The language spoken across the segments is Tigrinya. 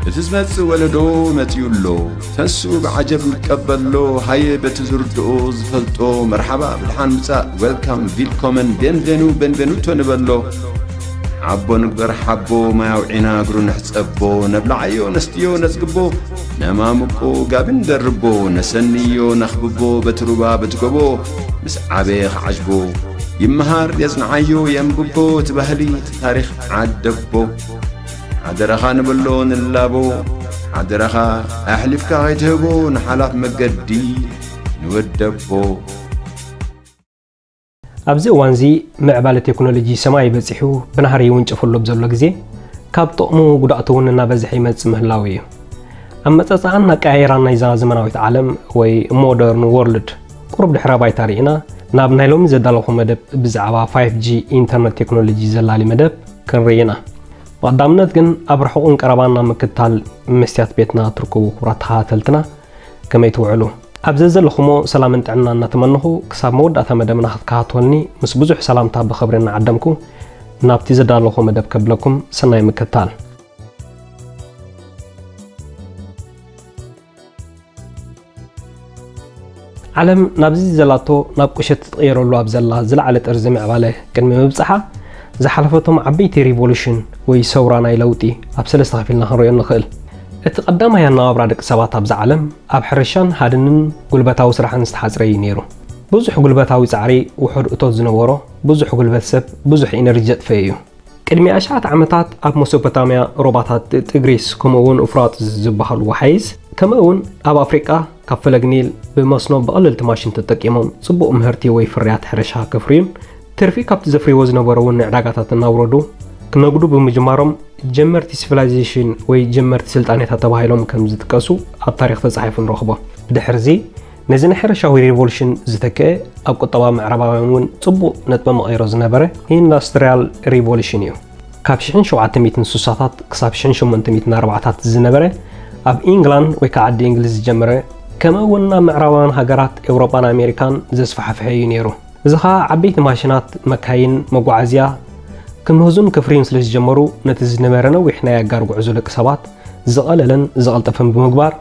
እቲ ዝመጽእ ወለዶ መጺኡ ኣሎ። ተንስኡ ብዓጀብ ንቀበሎ። ሃየ በቲ ዝርድኦ ዝፈልጦ መርሓባ ብድሓን ምጻእ፣ ዌልካም፣ ቪልኮመን፣ ቤንቬኑ፣ ቤንቬኑቶ ንበሎ። ሓቦ ንግበር ሓቦ፣ ማይ ኣውዒና እግሩ ንሕጸቦ። ነብልዓዮ ነስትዮ ነጽግቦ፣ ነማምቆ ጋቢ ንደርቦ። ነሰንዮ ነኽብቦ በቲ ሩባ በቲ ጎቦ፣ ምስ ዓበየ ክዓጅቦ። ይመሃር የጽንዓዮ የንብቦ፣ እቲ ባህሊ እቲ ታሪኽ ዓደቦ። ሓደራኻ ንበሎ ንላቦ፣ ሓደራኻ ኣሕሊፍካ ከይትህቦ ንሓላፍ መገዲ ንወደቦ። ኣብዚ እዋንዚ ምዕባለ ቴክኖሎጂ ሰማይ በጺሑ ብናህሪ ይውንጨፈሉ ኣብ ዘሎ ግዜ፣ ካብ ጥቕሙ ጉድኣቱ እውን እናበዝሐ ይመጽእ ምህላው እዩ። ኣመጻጽኣን ኣቀያየራን ናይዛ ዘመናዊት ዓለም ወይ ሞደርን ወርልድ ቁሩብ ድሕረ ባይታ ርኢና፣ ናብ ናይ ሎሚ ዘዳለኹ መደብ ብዛዕባ ፋይቭ ጂ ኢንተርነት ቴክኖሎጂ ዘላሊ መደብ ክንርኢ ኢና። ብቐዳምነት ግን ኣብ ርሑቕን ቀረባን ናብ ምክትታል መስትያት ቤትና ትርከቡ ክቡራት ተኸታተልትና፣ ከመይ ትውዕሉ? ኣብ ዘዘለኹሞ ሰላምን ጥዕና እናተመነኹ፣ ክሳብ መወዳእታ መደብና ክትከታተሉኒ ምስ ብዙሕ ሰላምታ ብኽብሪ እናዓደምኩ፣ ናብቲ ዘዳለኹ መደብ ከብለኩም ሰናይ ምክትታል። ዓለም ናብዚ ዘላቶ ናብ ቁሸት ትቕየረሉ ኣብ ዘላ ዝለዓለ ጥርዚ ምዕባለ ቅድሚ ምብጻሓ ዝሓለፈቶም ዓበይቲ ሪቮሉሽን ወይ ሰውራ ናይ ለውጢ ኣብ ሰለስተ ከፊልና ክንሪኦ ንኽእል። እቲ ቀዳማይ ኣነባብራ ደቂ ሰባት ኣብዛ ዓለም ኣብ ሕርሻን ሃድንን ጉልበታዊ ስራሕን ዝተሓጽረ እዩ ነይሩ። ብዙሕ ጉልበታዊ ጻዕሪ፣ ውሑድ እቶት ዝነበሮ፣ ብዙሕ ጉልበት ሰብ፣ ብዙሕ ኢነርጂ ዘጥፈየ እዩ። ቅድሚ ኣሽሓት ዓመታት ኣብ መሶፖታምያ ሩባታት ጥ-፣ ጥግሪስ ከምኡ እውን እፍራጥስ ዝበሃሉ ወሓይዝ፣ ከምኡ እውን ኣብ ኣፍሪቃ ካብ ፈለግ ኒል ብመስኖ ብቐለልቲ ማሽን ተጠቂሞም ጽቡቕ ምህርቲ ወይ ፍርያት ሕርሻ ከፍርዩን ትርፊ ካብቲ ዘፍርይዎ ዝነበሩ እውን ንዕዳጋታት እናውረዱ ክነግዱ ብምጅማሮም ጀመርቲ ሲቪላይዜሽን ወይ ጀመርቲ ስልጣኔታት ተባሂሎም ከም ዝጥቀሱ ኣብ ታሪኽ ተጻሒፉ ንረኽቦ። ብድሕርዚ ነዚ ናይ ሕርሻዊ ሪቮሉሽን ዝተክአ ኣብ ቁጠባ ምዕራባውያን እውን ጽቡቕ ነጥበ መቐይሮ ዝነበረ ኢንዳስትሪያል ሪቮሉሽን እዩ። ካብ ሽሕን ሸውዓተ ሚእትን ስሳታት ክሳብ ሽሕን ሸሞንተ ሚእትን ኣርባዓታት ዝነበረ ኣብ ኢንግላንድ ወይ ከዓ ዓዲ እንግሊዝ ዝጀመረ፣ ከምኡ እውን ናብ ምዕራባውያን ሃገራት ኤውሮጳን ኣሜሪካን ዘስፋሕፍሐ እዩ ነይሩ። እዚ ኸዓ ዓበይቲ ማሽናት፣ መካይን፣ መጓዓዝያ ክምህዙን ከፍርዩን ስለ ዝጀመሩ ነቲ ዝነበረ ነዊሕ ናይ ኣጋር ጉዕዞ ደቂ ሰባት ዝቐለለን ዝቐልጠፈን ብምግባር፣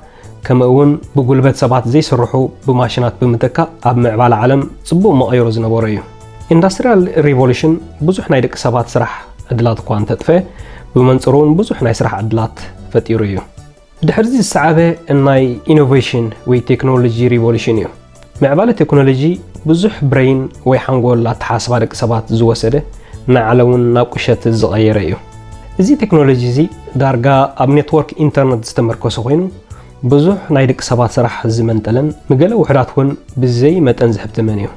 ከምኡ እውን ብጉልበት ሰባት ዘይስርሑ ብማሽናት ብምትካእ ኣብ ምዕባለ ዓለም ጽቡቕ መቐይሮ ዝነበሮ እዩ። ኢንዳስትሪያል ሪቮሉሽን ብዙሕ ናይ ደቂ ሰባት ስራሕ ዕድላት እኳ እንተጥፈ፣ ብመንጽሩ እውን ብዙሕ ናይ ስራሕ ዕድላት ፈጢሩ እዩ። ድሕርዚ ዝሰዓበ ናይ ኢኖቬሽን ወይ ቴክኖሎጂ ሪቮሉሽን እዩ። ምዕባለ ቴክኖሎጂ ብዙሕ ብሬን ወይ ሓንጎል ኣተሓሳስባ ደቂ ሰባት ዝወሰደ፣ ንዓለም እውን ናብ ቁሸት ዝቐየረ እዩ። እዚ ቴክኖሎጂ እዚ ዳርጋ ኣብ ኔትወርክ ኢንተርነት ዝተመርኮሰ ኮይኑ፣ ብዙሕ ናይ ደቂ ሰባት ስራሕ ዝመንጠለን ንገለ ውሑዳት እውን ብዘይ መጠን ዘህብትመን እዩ።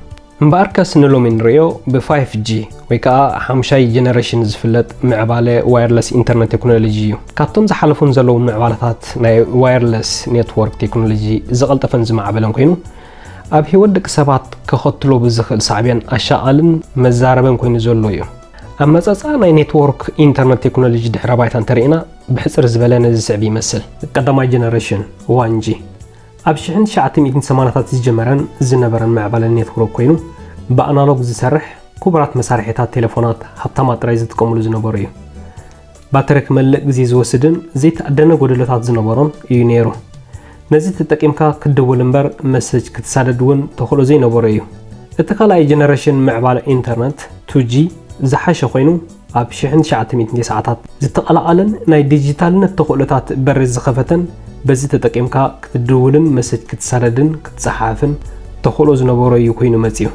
እምበኣርከስ ንሎሚ ንርእዮ ብ ፋይቭ ጂ ወይ ከዓ ሓምሻይ ጀነሬሽን ዝፍለጥ ምዕባለ ዋየርለስ ኢንተርነት ቴክኖሎጂ እዩ። ካብቶም ዝሓለፉን ዘለውን ምዕባለታት ናይ ዋየርለስ ኔትወርክ ቴክኖሎጂ ዝቐልጠፈን ዝማዕበለን ኮይኑ፣ ኣብ ህይወት ደቂ ሰባት ከኸትሎ ብዝኽእል ሳዕቤን ኣሻቓልን መዛረበን ኮይኑ ዘሎ እዩ። ኣመጻጽኣ ናይ ኔትወርክ ኢንተርነት ቴክኖሎጂ ድሕረ ባይታ እንተርኢና፣ ብሕጽር ዝበለ ነዚ ስዕብ ይመስል። ቀዳማይ ጀነሬሽን ዋን ጂ ኣብ ሽሕን ትሽዓተ ሚእትን ሰማንያታት ዝጀመረን ዝነበረን ምዕባለ ኔትወርክ ኮይኑ፣ ብኣናሎግ ዝሰርሕ ክቡራት መሳርሒታት ቴሌፎናት ሃብታማት ጥራይ ዝጥቀምሉ ዝነበሩ እዩ። ባትሪ ክመልእ ግዜ ዝወስድን ዘይተኣደነ ጎደሎታት ዝነበሮን እዩ ነይሩ። ነዚ ተጠቂምካ ክትድውል እምበር መሰጅ ክትሳደድ እውን ተኽእሎ ዘይነበሮ እዩ። እቲ ካልኣይ ጀነሬሽን ምዕባለ ኢንተርነት ቱ ጂ ዝሓሸ ኮይኑ፣ ኣብ ሽሕን ትሽዓተ ሚእትን ተስዓታት ዝተቐላቐለን ናይ ዲጂታልነት ተኽእሎታት በሪ ዝኸፈተን፣ በዚ ተጠቂምካ ክትድውልን መሰጅ ክትሳደድን ክትጸሓፍን ተኽእሎ ዝነበሮ እዩ ኮይኑ መጺኡ።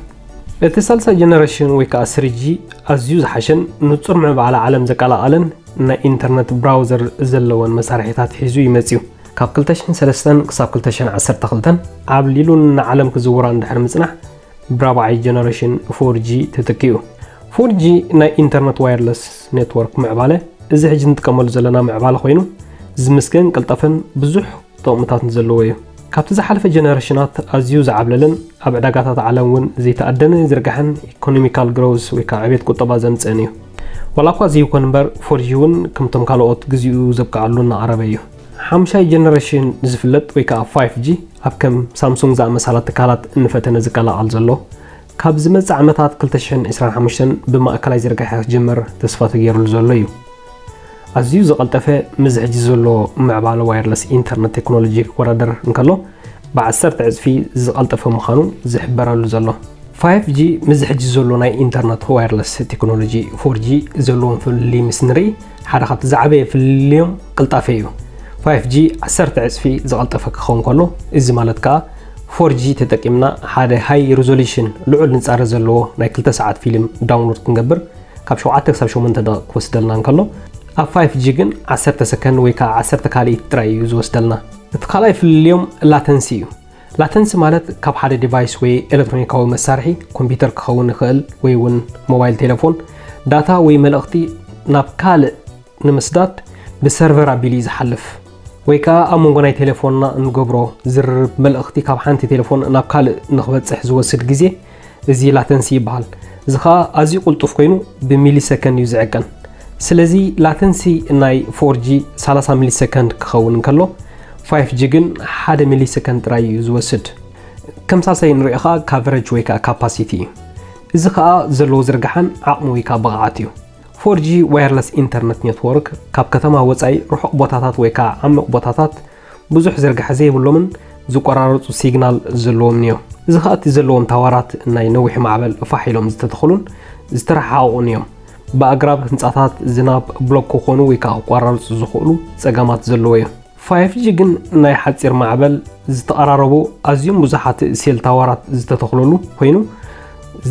እቲ ሳልሳይ ጀነሬሽን ወይ ከዓ ስሪ ጂ ኣዝዩ ዝሓሸን ንጹር ምዕባለ ዓለም ዘቀላቐለን ናይ ኢንተርነት ብራውዘር ዘለወን መሳርሒታት ሒዙ እዩ መጺኡ። ካብ ክልተ ሽሕን ሰለስተን ክሳብ ክልተ ሽሕን ዓሰርተ ክልተን ዓብሊሉን ንዓለም ክዝውራ እንድሕር ምጽናሕ፣ ብራብዓይ ጀነሬሽን ፎር ጂ ተተኪኡ። ፎር ጂ ናይ ኢንተርነት ዋየርለስ ኔትወርክ ምዕባለ፣ እዚ ሕጂ ንጥቀመሉ ዘለና ምዕባለ ኮይኑ፣ ዝምስገን ቅልጠፈን ብዙሕ ጥቕምታትን ዘለዎ እዩ። ካብቲ ዝሓለፈ ጀነሬሽናት ኣዝዩ ዝዓብለለን ኣብ ዕዳጋታት ዓለም እውን ዘይተኣደነ ዝርጋሐን ኢኮኖሚካል ግሮውስ ወይ ከዓ ዕቤት ቁጠባ ዘምጽእን እዩ። ዋላ እኳ እዚ ይኹን እምበር፣ ፎር ጂ እውን ከምቶም ካልኦት ግዚኡ ዘብቅዓሉ እናቐረበ እዩ። ሓምሻይ ጀነሬሽን ዝፍለጥ ወይ ከዓ ፋይቭ ጂ ኣብ ከም ሳምሱንግ ዝኣመሳላ ትካላት እንፈተነ ዝቀላቐል ዘሎ፣ ካብ ዝመጽእ ዓመታት ክልተ ሽሕን ዕስራን ሓሙሽተን ብማእከላይ ዝርጋሐ ክጅምር ተስፋ ተገይሩሉ ዘሎ እዩ። ኣዝዩ ዝቐልጠፈ፣ ምስ ሕጂ ዘሎ ምዕባለ ዋየርለስ ኢንተርነት ቴክኖሎጂ ክወዳደር እንከሎ፣ ብዓሰርተ ዕጽፊ ዝቐልጠፈ ምዃኑ ዝሕበረሉ ዘሎ። ፋይፍ ጂ ምስ ሕጂ ዘሎ ናይ ኢንተርነት ዋየርለስ ቴክኖሎጂ ፎር ጂ ዘለዎም ፍልልይ ምስ ንርኢ፣ ሓደ ካብቲ ዝዓበየ ፍልልዮም ቅልጣፈ እዩ። ፋይፍ ጂ ዓሰርተ ዕጽፊ ዝቐልጠፈ ክኸውን ከሎ፣ እዚ ማለት ከኣ ፎር ጂ ተጠቂምና ሓደ ሃይ ሪዞሉሽን፣ ልዑል ንጻረ ዘለዎ ናይ ክልተ ሰዓት ፊልም ዳውንሎድ ክንገብር ካብ ሸውዓተ ክሳብ ሸሞንተ ደቂቕ ክወስደልና እንከሎ፣ ኣብ ፋይፍ ጂ ግን ዓሰርተ ሰከንድ ወይ ከኣ ዓሰርተ ካልኢት ጥራይ እዩ ዝወስደልና። እቲ ካልኣይ ፍልልዮም ላተንሲ እዩ። ላተንሲ ማለት ካብ ሓደ ዲቫይስ ወይ ኤሌክትሮኒካዊ መሳርሒ፣ ኮምፒውተር ክኸውን ይኽእል ወይ እውን ሞባይል ቴሌፎን፣ ዳታ ወይ መልእኽቲ ናብ ካልእ ንምስዳድ ብሰርቨር ኣቢሉ እዩ ዝሓልፍ። ወይ ከኣ ኣብ መንጎ ናይ ቴሌፎንና እንገብሮ ዝርርብ፣ መልእኽቲ ካብ ሓንቲ ቴሌፎን ናብ ካልእ ንኽበጽሕ ዝወስድ ግዜ፣ እዚ ላተንሲ ይበሃል። እዚ ኸኣ ኣዝዩ ቅልጡፍ ኮይኑ ብሚሊ ሰከንድ እዩ ዝዕቀን። ስለዚ ላተንሲ ናይ ፎር ጂ ሰላሳ ሚሊ ሰከንድ ክኸውን እንከሎ፣ ፋይፍ ጂ ግን ሓደ ሚሊ ሰከንድ ጥራይ እዩ ዝወስድ። ከም ሳልሳይ ንሪኦ ኸኣ ካቨረጅ ወይ ከኣ ካፓሲቲ እዩ። እዚ ኸኣ ዘለዎ ዝርግሓን ዓቕሚ ወይ ከኣ ብቕዓት እዩ። ፎር ጂ ዋየርለስ ኢንተርነት ኔትወርክ ካብ ከተማ ወጻኢ ርሑቕ ቦታታት ወይ ከኣ ዓሚቕ ቦታታት ብዙሕ ዝርግሐ ዘይብሎምን ዝቆራረጹ ሲግናል ዘለዎምን እዮም። እዚ ኸኣ እቲ ዘለዎም ታዋራት ናይ ነዊሕ ማዕበል ፋሕ ኢሎም ዝተተኽሉን ዝተረሓሓቑን እዮም። ብኣግራብ፣ ህንጻታት፣ ዝናብ፣ ብሎክ ክኾኑ ወይ ከኣ ክቆራረጹ ዝኽእሉ ጸገማት ዘለዎ እዮም። ፋይፍ ጂ ግን ናይ ሓጺር ማዕበል ዝተቐራረቡ ኣዝዮም ብዙሓት ሴል ታዋራት ዝተተኽለሉ ኮይኑ፣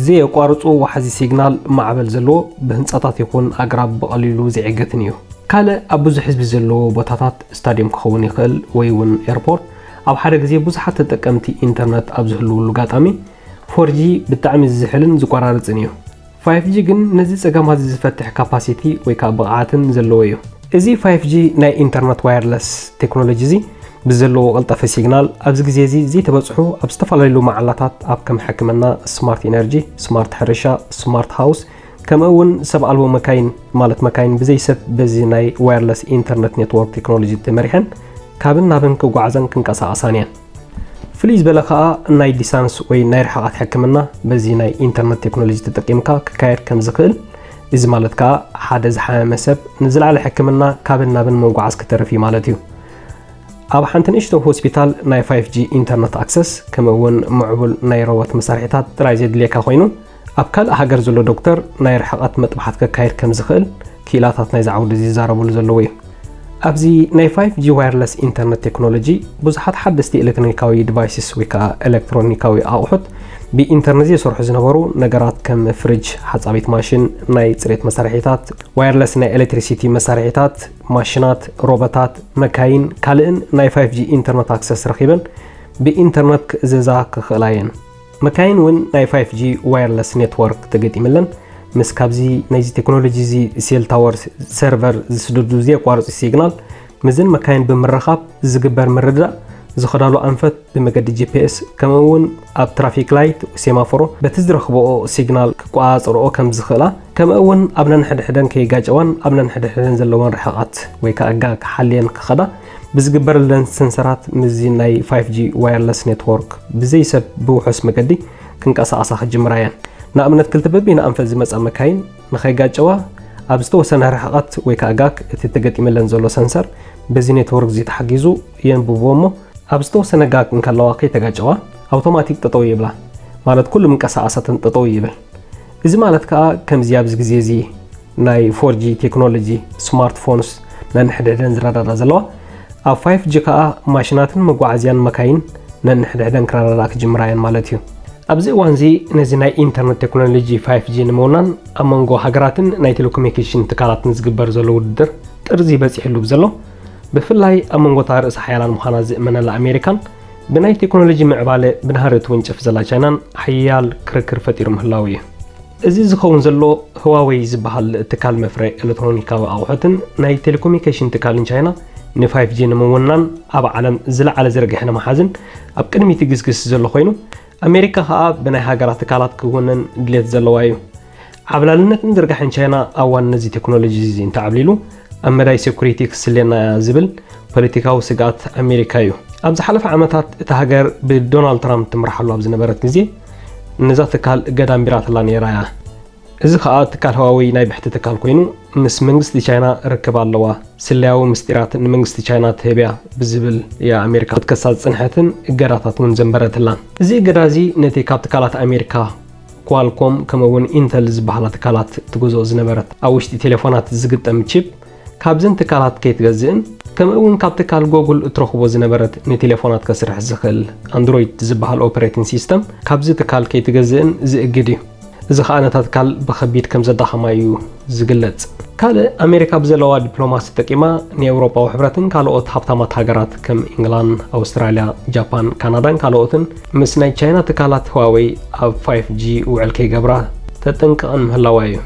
ዘየቋርጹ ዋሕዚ ሲግናል ማዕበል ዘለዎ፣ ብህንጻታት ይኹን ኣግራብ ብቐሊሉ ዘይዕገትን እዩ። ካልእ ኣብ ብዙሕ ህዝቢ ዘለዎ ቦታታት፣ ስታድዮም ክኸውን ይኽእል ወይ እውን ኤርፖርት፣ ኣብ ሓደ ግዜ ብዙሓት ተጠቀምቲ ኢንተርነት ኣብ ዝህልውሉ ኣጋጣሚ፣ ፎር ጂ ብጣዕሚ ዝዝሕልን ዝቆራረጽን እዩ። ፋይፍ ጂ ግን ነዚ ጸገማት ዝፈትሕ ካፓሲቲ ወይ ከኣ ብቕዓትን ዘለዎ እዩ። እዚ ፋይፍ ጂ ናይ ኢንተርነት ዋየርለስ ቴክኖሎጂ እዚ ብዘለዎ ቀልጠፈ ሲግናል ኣብዚ ግዜ እዚ ዘይተበጽሑ ኣብ ዝተፈላለዩ መዓላታት ኣብ ከም ሕክምና፣ ስማርት ኢነርጂ፣ ስማርት ሕርሻ፣ ስማርት ሃውስ፣ ከምኡ እውን ሰብ ኣልቦ መካይን፣ ማለት መካይን ብዘይ ሰብ በዚ ናይ ዋየርለስ ኢንተርነት ኔትወርክ ቴክኖሎጂ ተመሪሐን ካብን ናብን ክጓዓዛን ክንቀሳቐሳን እየን። ፍልይ ዝበለ ከኣ ናይ ዲስታንስ ወይ ናይ ርሕቐት ሕክምና በዚ ናይ ኢንተርነት ቴክኖሎጂ ተጠቂምካ ክካየድ ከም ዝኽእል፣ እዚ ማለት ከኣ ሓደ ዝሓመመ ሰብ ንዝለዓለ ሕክምና ካብን ናብን ምጉዓዝ ክተርፍ እዩ ማለት እዩ። ኣብ ሓንቲ ንእሽቶ ሆስፒታል ናይ ፋይፍ ጂ ኢንተርነት ኣክሰስ ከምኡ እውን ምዕቡል ናይ ሮቦት መሳርሒታት ጥራይ ዘድልየካ ኮይኑ፣ ኣብ ካልእ ሃገር ዘሎ ዶክተር ናይ ርሕቐት መጥባሕቲ ከካይድ ከም ዝኽእል ክኢላታት ናይዚ ዓውዲ እዚ ይዛረብሉ ዘለዉ እዩ። ኣብዚ ናይ ፋይፍ ጂ ዋየርለስ ኢንተርነት ቴክኖሎጂ ብዙሓት ሓደስቲ ኤሌክትሮኒካዊ ዲቫይስስ ወይ ከኣ ኤሌክትሮኒካዊ ኣቑሑት ብኢንተርነት ዘይሰርሑ ዝነበሩ ነገራት ከም ፍሪጅ፣ ሓጻቢት ማሽን፣ ናይ ጽሬት መሳርሒታት፣ ዋየርለስ ናይ ኤሌክትሪሲቲ መሳርሒታት፣ ማሽናት፣ ሮቦታት፣ መካይን፣ ካልእን ናይ ፋይፍ ጂ ኢንተርነት ኣክሰስ ረኺበን ብኢንተርነት ክእዘዛ ክኽእላ እየን። መካይን እውን ናይ ፋይፍ ጂ ዋየርለስ ኔትወርክ ተገጢምለን፣ ምስ ካብዚ ናይዚ ቴክኖሎጂ እዚ ሴል ታወር ሰርቨር ዝስደዱ ዘየቋርጹ ሲግናል፣ ምስዘን መካይን ብምርኻብ ዝግበር ምርድዳእ፣ ዝኸዳሉ ኣንፈት ብመገዲ ጂ ፒ ኤስ፣ ከምኡ እውን ኣብ ትራፊክ ላይት፣ ሴማፎሮ፣ በቲ ዝረኽብኦ ሲግናል ክቆጻጸርኦ ከም ዝኽእላ፣ ከምኡ እውን ኣብ ነንሕድሕደን ከይጋጨዋን ኣብ ነንሕድሕደን ዘለወን ርሕቐት ወይ ከኣ ጋግ ሓልየን ክኸዳ ብዝግበረለን ሰንሰራት ምስዚ ናይ ፋይፍ ጂ ዋየርለስ ኔትወርክ ብዘይ ሰብ ብውሑስ መገዲ ክንቀሳቐሳ ክጅምራ እየን። ንኣብነት ክልተ በበይነ ኣንፈት ዝመጻ መካይን ንኸይጋጨዋ ኣብ ዝተወሰነ ርሕቐት ወይ ከኣ ጋግ እቲ ተገጢመለን ዘሎ ሰንሰር በዚ ኔትወርክ እዚ ተሓጊዙ የንብቦ እሞ ኣብ ዝተወሰነ ጋግ እንከለዋ ከይተጋጨዋ ኣውቶማቲክ ጠጠው ይብላ። ማለት ኩሉ ምንቀሳቐሳተን ጠጠው ይብል። እዚ ማለት ከኣ ከምዚ ኣብዚ ግዜ እዚ ናይ ፎር ጂ ቴክኖሎጂ ስማርትፎንስ ነንሕድሕደን ዝረዳዳ ዘለዋ፣ ኣብ ፋይፍ ጂ ከኣ ማሽናትን መጓዓዝያን መካይን ነንሕድሕደን ክረዳዳ ክጅምራ እየን ማለት እዩ። ኣብዚ እዋን እዚ ነዚ ናይ ኢንተርነት ቴክኖሎጂ ፋይፍ ጂ ንምውናን ኣብ መንጎ ሃገራትን ናይ ቴሌኮሙኒኬሽን ትካላትን ዝግበር ዘሎ ውድድር ጥርዚ በጺሕሉ ብዘሎ፣ ብፍላይ ኣብ መንጎ እታ ርእሰ ሓያላን ምዃና ዝእመነላ ኣሜሪካን ብናይ ቴክኖሎጂ ምዕባለ ብናህሪ ትውንጨፍ ዘላ ቻይናን ሓያል ክርክር ፈጢሩ ምህላው እዩ። እዚ ዝኸውን ዘሎ ህዋወይ ዝበሃል ትካል መፍረ ኤሌክትሮኒካዊ ኣቑሑትን ናይ ቴሌኮሙኒኬሽን ትካልን ቻይና ን ፋይፍ ጂ ንምውናን ኣብ ዓለም ዝለዓለ ዝርግሐ ንምሓዝን ኣብ ቅድሚት ይግስግስ ዘሎ ኮይኑ፣ ኣሜሪካ ከኣ ብናይ ሃገራ ትካላት ክውነን ድሌት ዘለዋ እዩ። ዓብላልነትን ዝርጋሐን ቻይና ኣብ ዋን ነዚ ቴክኖሎጂ እዚ እንተዓብሊሉ ኣብ መዳይ ሴኩሪቲ ክስልየና እያ ዝብል ፖለቲካዊ ስግኣት ኣሜሪካ እዩ። ኣብ ዝሓለፈ ዓመታት እታ ሃገር ብዶናልድ ትራምፕ ትምርሓሉ ኣብ ዝነበረት ግዜ ነዛ ትካል እገዳ ኣንቢራትላ ነይራ እያ። እዚ ኸኣ ትካል ህዋወይ ናይ ብሕቲ ትካል ኮይኑ፣ ምስ መንግስቲ ቻይና ርክብ ኣለዋ፣ ስለያዊ ምስጢራት ንመንግስቲ ቻይና ትህብያ ብዝብል እያ ኣሜሪካ ክትከሳ ዝጽንሐትን እገዳታት እውን ዘንበረትላን። እዚ እገዳ እዚ ነቲ ካብ ትካላት ኣሜሪካ ኳልኮም ከምኡ እውን ኢንተል ዝበሃላ ትካላት ትገዝኦ ዝነበረት ኣብ ውሽጢ ቴሌፎናት ዝግጠም ቺፕ ካብዘን ትካላት ከይትገዝእን ከምኡ እውን ካብ ትካል ጎጉል እትረኽቦ ዝነበረት ንቴሌፎናት ከስርሕ ዝኽእል ኣንድሮይድ ዝበሃል ኦፐሬቲንግ ሲስተም ካብዚ ትካል ከይትገዝእን ዝእግድ እዩ። እዚ ኸኣ ነታ ትካል ብኸቢድ ከም ዘዳኸማ እዩ ዝግለጽ። ካልእ ኣሜሪካ ብዘለዋ ዲፕሎማሲ ተጠቂማ ንኤውሮጳዊ ሕብረትን ካልኦት ሃብታማት ሃገራት ከም ኢንግላንድ፣ ኣውስትራልያ፣ ጃፓን፣ ካናዳን ካልኦትን ምስ ናይ ቻይና ትካላት ህዋወይ ኣብ ፋይፍ ጂ ውዕል ከይገብራ ተጠንቅቐን ምህላዋ እዩ።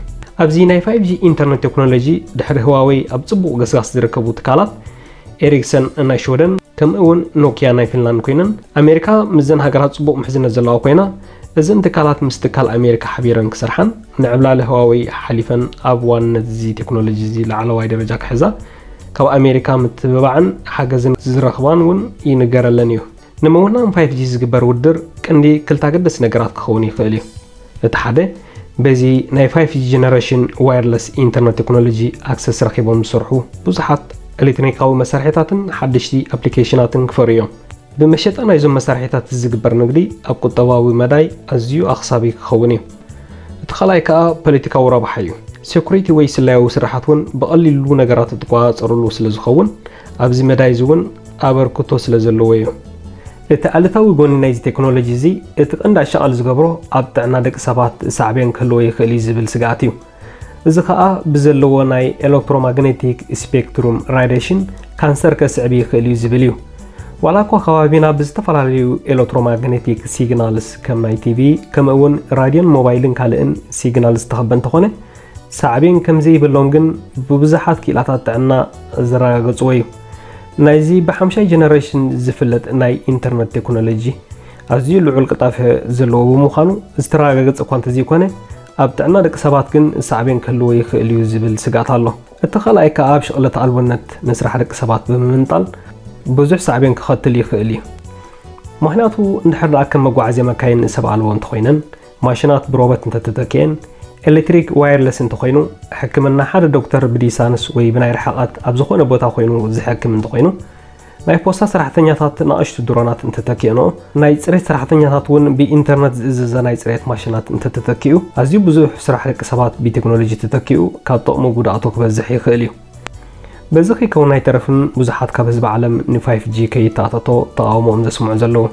ኣብዚ ናይ ፋይፍ ጂ ኢንተርነት ቴክኖሎጂ ድሕሪ ህዋወይ ኣብ ጽቡቕ ገስጋስ ዝርከቡ ትካላት ኤሪክሰን ናይ ሽወደን ከምኡ እውን ኖኪያ ናይ ፊንላንድ ኮይነን ኣሜሪካ ምስዘን ሃገራት ጽቡቕ ምሕዝነት ዘለዋ ኮይና እዘን ትካላት ምስ ትካል ኣሜሪካ ሓቢረን ክሰርሓን ንዕብላሊ ህዋወይ ሓሊፈን ኣብ ዋንነት እዚ ቴክኖሎጂ እዚ ላዕለዋይ ደረጃ ክሕዛ ካብ ኣሜሪካ ምትብባዕን ሓገዝን ዝረኽባን እውን ይንገረለን እዩ። ንምውናን ፋይፍ ጂ ዝግበር ውድድር ቀንዲ ክልተ ኣገደስቲ ነገራት ክኸውን ይኽእል እዩ። እቲ ሓደ በዚ ናይ ፋይፍ ጂ ጀነሬሽን ዋየርለስ ኢንተርነት ቴክኖሎጂ ኣክሰስ ረኺቦም ዝሰርሑ ብዙሓት ኤሌክትሮኒካዊ መሳርሒታትን ሓደሽቲ ኣፕሊኬሽናትን ክፈርዩ እዮም። ብመሸጣ ናይዞም መሳርሒታት ዝግበር ንግዲ ኣብ ቁጠባዊ መዳይ ኣዝዩ ኣኽሳቢ ክኸውን እዩ። እቲ ካልኣይ ከኣ ፖለቲካዊ ረብሓ እዩ። ሴኩሪቲ ወይ ስለያዊ ስራሓት እውን ብቐሊሉ ነገራት እትቆጻጸርሉ ስለ ዝኸውን ኣብዚ መዳይ እዚ እውን ኣበርክቶ ስለ ዘለዎ እዩ። እቲ ኣሉታዊ ጎኒ ናይዚ ቴክኖሎጂ እዚ እቲ ቀንዲ ኣሻቓሊ ዝገብሮ ኣብ ጥዕና ደቂ ሰባት ሳዕቤን ክህልዎ ይኽእል እዩ ዝብል ስግኣት እዩ። እዚ ኸኣ ብዘለዎ ናይ ኤሌክትሮማግኔቲክ ስፔክትሩም ራዲሽን ካንሰር ከስዕብ ይኽእል እዩ ዝብል እዩ። ዋላ እኳ ከባቢና ብዝተፈላለዩ ኤሌክትሮማግኔቲክ ሲግናልስ ከም ናይ ቲቪ ከምኡ እውን ራድዮን ሞባይልን ካልእን ሲግናል ዝተኸበ እንተኾነ ሳዕቤን ከም ዘይብሎም ግን ብብዙሓት ክኢላታት ጥዕና ዘረጋገጽዎ እዩ። ናይዚ ብሓምሻይ ጀነሬሽን ዝፍለጥ ናይ ኢንተርነት ቴክኖሎጂ ኣዝዩ ልዑል ቅልጣፈ ዘለዎ ብምዃኑ ዝተረጋገጸ እኳ እንተዘይኮነ ኣብ ጥዕና ደቂ ሰባት ግን ሳዕቤን ክህልዎ ይኽእል እዩ ዝብል ስግኣት ኣሎ። እቲ ካልኣይ ከኣ ኣብ ሽቕለት ኣልቦነት ንስራሕ ደቂ ሰባት ብምምንጣል ብዙሕ ሳዕቤን ክኸትል ይኽእል እዩ። ምኽንያቱ እንድሕር ደኣ ከም መጓዓዝያ መካይን ሰብ ኣልቦ እንተኾይነን ማሽናት ብሮበት እንተተተኪኤን ኤሌክትሪክ ዋየርለስ እንተኾይኑ ሕክምና ሓደ ዶክተር ብዲሳንስ ወይ ብናይ ርሕቐት ኣብ ዝኾነ ቦታ ኮይኑ ዝሕክም እንተኾይኑ ናይ ፖስታ ሰራሕተኛታት ናእሽቱ ድሮናት እንተተኪእንኦ ናይ ፅሬት ሰራሕተኛታት እውን ብኢንተርነት ዝእዘዘ ናይ ፅሬት ማሽናት እንተተተኪኡ ኣዝዩ ብዙሕ ስራሕ ደቂ ሰባት ብቴክኖሎጂ ተተኪኡ ካብ ጥቕሙ ጉድኣቱ ክበዝሕ ይኽእል እዩ። በዚ ከይከውን ኣይተረፍን ብዙሓት ካብ ህዝቢ ዓለም ን ፋይፍ ጂ ከይተኣታቶ ተቓውሞኦም ዘስምዑ ዘለዉ።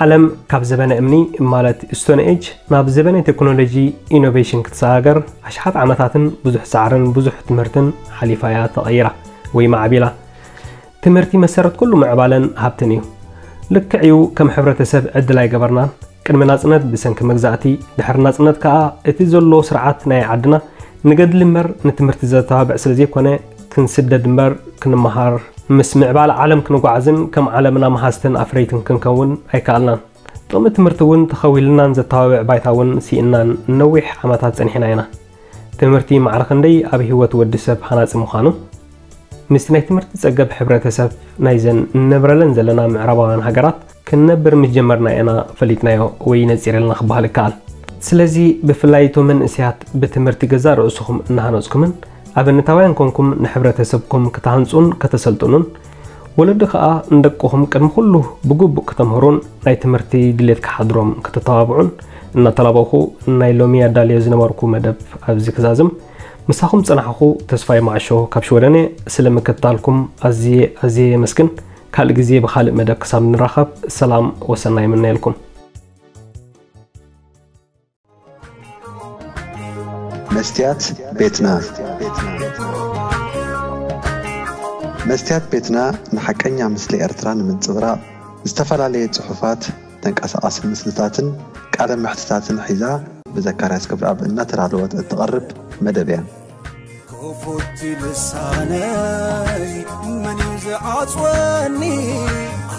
ዓለም ካብ ዘበነ እምኒ ማለት ስቶን ኤጅ ናብ ዘበነ ቴክኖሎጂ ኢኖቬሽን ክትሰጋገር ኣሽሓት ዓመታትን ብዙሕ ጻዕርን ብዙሕ ትምህርትን ሓሊፋ እያ ተቐይራ ወይ ማዕቢላ። ትምህርቲ መሰረት ኩሉ ምዕባለን ሃብትን እዩ። ልክዕ እዩ ከም ሕብረተሰብ ዕድል ኣይገበርናን። ቅድሚ ናጽነት ብሰንኪ መግዛእቲ፣ ድሕሪ ናጽነት ከኣ እቲ ዘሎ ስርዓት ናይ ዓድና ንገድሊ እምበር ንትምህርቲ ዘተባብዕ ስለ ዘይኮነ ክንስደድ እምበር ክንመሃር ምስ ምዕባለ ዓለም ክንጓዓዝን ከም ዓለምና መሃዝትን ኣፍረይትን ክንከውን ኣይከኣልናን። ጥቕሚ ትምህርቲ እውን ተኸዊልናን ዘተባብዕ ባይታ እውን ስኢንናን ነዊሕ ዓመታት ጸኒሕና ኢና። ትምህርቲ ማዕረ ክንደይ ኣብ ህይወት ወዲ ሰብ ሃናጺ ምዃኑ ምስቲ ናይ ትምህርቲ ጸገብ ሕብረተሰብ ናይዘን እንነብረለን ዘለና ምዕራባውያን ሃገራት ክንነብር ምስ ጀመርና ኢና ፈሊጥናዮ ወይ ነጺረልና ክበሃል ይከኣል። ስለዚ ብፍላይ እቶም መንእሰያት ብትምህርቲ ገዛእ ርእስኹም እናሃነጽኩምን ኣብነታውያን ኮንኩም ንሕብረተሰብኩም ከተሃንጹን ከተሰልጥኑን ወለዲ ከኣ ንደቅኹም ቅድሚ ኩሉ ብግቡእ ከተምህሩን ናይ ትምህርቲ ድሌት ክሓድሮም ከተተባብዑን እናተላበኹ ናይ ሎሚ ኣዳልዮ ዝነበርኩ መደብ ኣብዚ ክዛዝም ምሳኹም ጸናሕኹ ተስፋይ ማዕሾ ካብ ሽወደን እየ። ስለ ምክትታልኩም ኣዝየ ኣዝየ የመስግን። ካልእ ግዜ ብኻልእ መደብ ክሳብ ንራኸብ ሰላም ወሰናይ ይምነየልኩም። መስትያት ቤትና መስትያት ቤትና ንሓቀኛ ምስሊ ኤርትራ ንምንጽብራቕ ዝተፈላለየ ጽሑፋት፣ ተንቀሳቓሲ ምስልታትን ቃለ መሕትታትን ሒዛ ብዘካርያስ ገብረኣብ እናተዳለወት እትቐርብ መደብ እያ። ክፉት ልሳነይ መን እዩ ዝዓጽወኒ?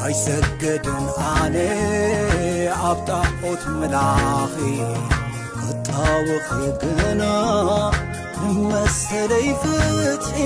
ኣይሰገድን ኣነ ኣብ ጣዖት ምላኺ ክጣወኺ ግና ንመሰለይ ፍትሒ